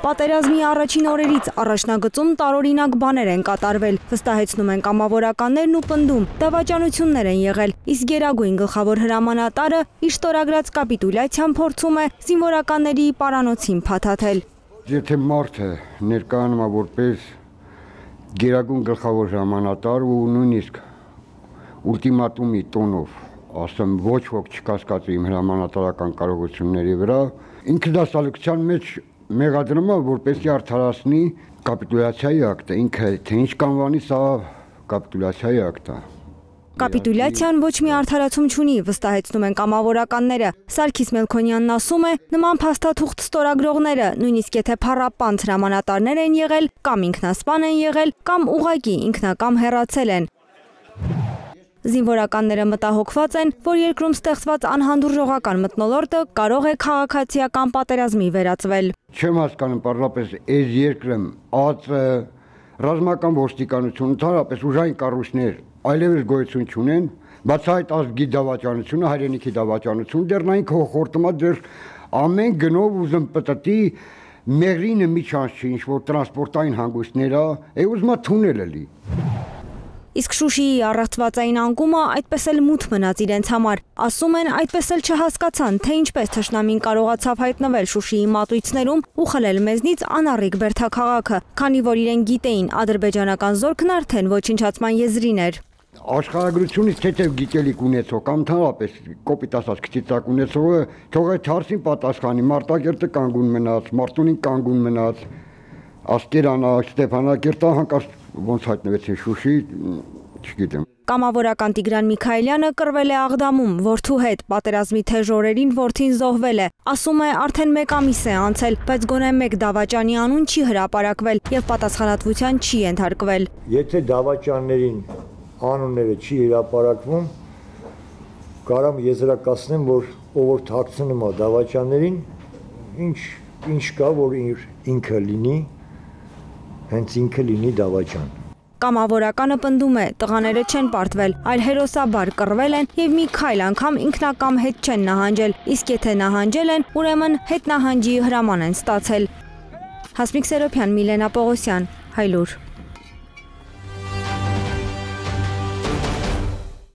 Պատերազմի առաջին օրերից առաջնագծում տարօրինակ բաներ են կատարվել, վստահեցնում են կամավորականներն ու պնդում, դավաճանություններ են եղել, իսկ գերագույն գլխավոր հրամանատարը իր ստորագրած կապիտուլյացիան փորձում է զինվորականների պարանոցին փաթաթել։ Եթե մարդը ներկայանում է որպես գերագույն գլխավոր հրամանատար ու նույնիսկ ուլտիմատումի տոնով ասեմ ոչ ոք չկասկածի իմ հրամանատարական կարողությունների վրա, ինքը դա սալիկության մեջ մեղադրում է, որպեսզի արդարացնի կապիտուլյացիայի ակտը, ինքը թե ինչ կանվանի սա կապիտուլյացիայի ակտ է։ Կապիտուլյացիան ոչ մի արդարացում չունի, վստահեցնում են կամավորականները։ Սարգիս Մելքոնյանն ասում է, նման փաստաթուղթ ստորագրողները, նույնիսկ եթե փառապանծ հրամանատարներ են եղել, կամ ինքնասպան են եղել, կամ ուղղակի ինքնակամ հեռացել են։ Զինվորականները մտահոգված են, որ երկրում ստեղծված անհանդուրժողական մթնոլորտը կարող է քաղաքացիական պատերազմի վերածվել։ Չեմ հասկանում պարզապես այս երկրը ԱԾ, ռազմական ոստիկանություն, ընդհանրապես ուժային կառույցներ այլևս գոյություն չունեն, բաց այդ ազգի դավաճանությունը, հայրենիքի դավաճանությունը դեռ նայն հոխորտում է դեռ ամեն գնով ուզում պտտի մեղրինը մի չանց չի, ինչ որ տրանսպորտային հանգույցներ է, ուզում է թունել լի։ Իսկ Շուշիի առեղծվածային անկումը այդպես էլ մութ մնաց իրենց համար։ Ասում են, այդպես էլ չհասկացան, թե ինչպես թշնամին կարողացավ հայտնվել Շուշիի մատույցներում ու խլել մեզնից անառիկ բերդաքաղաքը, քանի որ իրեն գիտեին ադրբեջանական զորքն արդեն ոչնչացման եզրին էր։ Աշխարհագրությունից թեթև գիտելիք ունեցող կամ ընդհանրապես կոպիտ ասած քչիցակ ունեցողը թող այդ հարցին պատասխանի, Մարտակերտը կանգուն մնաց, Մարտունին կանգուն մնաց, Ասկերանա, Ստեփանակերտը հանկարծ ոնց հայտնվեցին Շուշի, չգիտեմ։ Կամավորական Տիգրան Միքայելյանը կռվել է Աղդամում, որդու հետ, պատերազմի թեժ օրերին որդին զոհվել է։ Ասում է, արդեն 1 ամիս է անցել, բայց գոնե մեկ դավաճանի անուն չի հրապարակվել եւ պատասխանատվության չի ենթարկվել։ Եթե դավաճաններին անունները չի հրապարակվում, կարամ եզրակացնեմ, որ ով որ թաքցնում է դավաճաններին, ինչ կա, որ ինքը լինի, հենց ինքը լինի դավաճան։ Կամավորականը պնդում է, տղաները չեն պարտվել, այլ հերոսաբար կռվել են եւ մի քայլ անգամ ինքնակամ հետ չեն նահանջել, իսկ եթե նահանջել են, ուրեմն հետ նահանջի հրաման են ստացել։ Հասմիկ Սերոբյան, Միլենա Պողոսյան, Հայլուր։